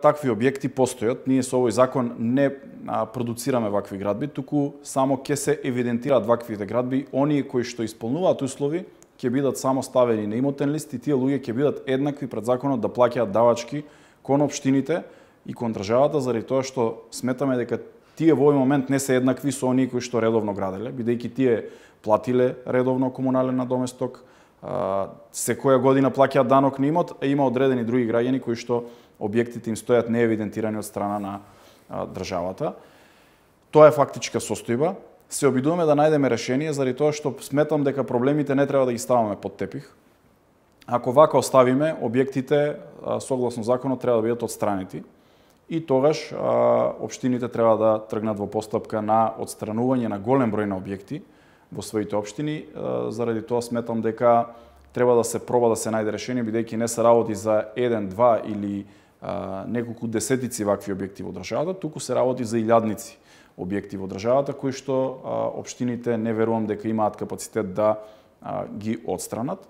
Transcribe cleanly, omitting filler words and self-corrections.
Такви објекти постојат. Ние со овој закон не продуцираме вакви градби, туку само ќе се евидентираат ваквите градби. Оние кои што исполнуваат услови ќе бидат само ставени на имотен лист и тие луѓе ќе бидат еднакви пред законот да плаќаат давачки кон општините и кон државата, заради тоа што сметаме дека тие во овој момент не се еднакви со оние кои што редовно граделе, бидејќи тие платиле редовно комунален надоместок, секоја година плаќаат данок на имот, а има одредени други граѓани кои што објектите им стојат неевидентирани од страна на државата. Тоа е фактичка состојба. Се обидуваме да најдеме решение, заради тоа што сметам дека проблемите не треба да ги ставаме под тепих. Ако вака оставиме, објектите согласно законот треба да бидат отстранети и тогаш општините треба да тргнат во постапка на отстранување на голем број на објекти во своите општини. Заради тоа сметам дека треба да се проба да се најде решение, бидејќи не се работи за 1, 2 или неколку десетици вакви објекти во државата, туку се работи за илјадници објекти во државата, кои што општините не верувам дека имаат капацитет да ги отстранат.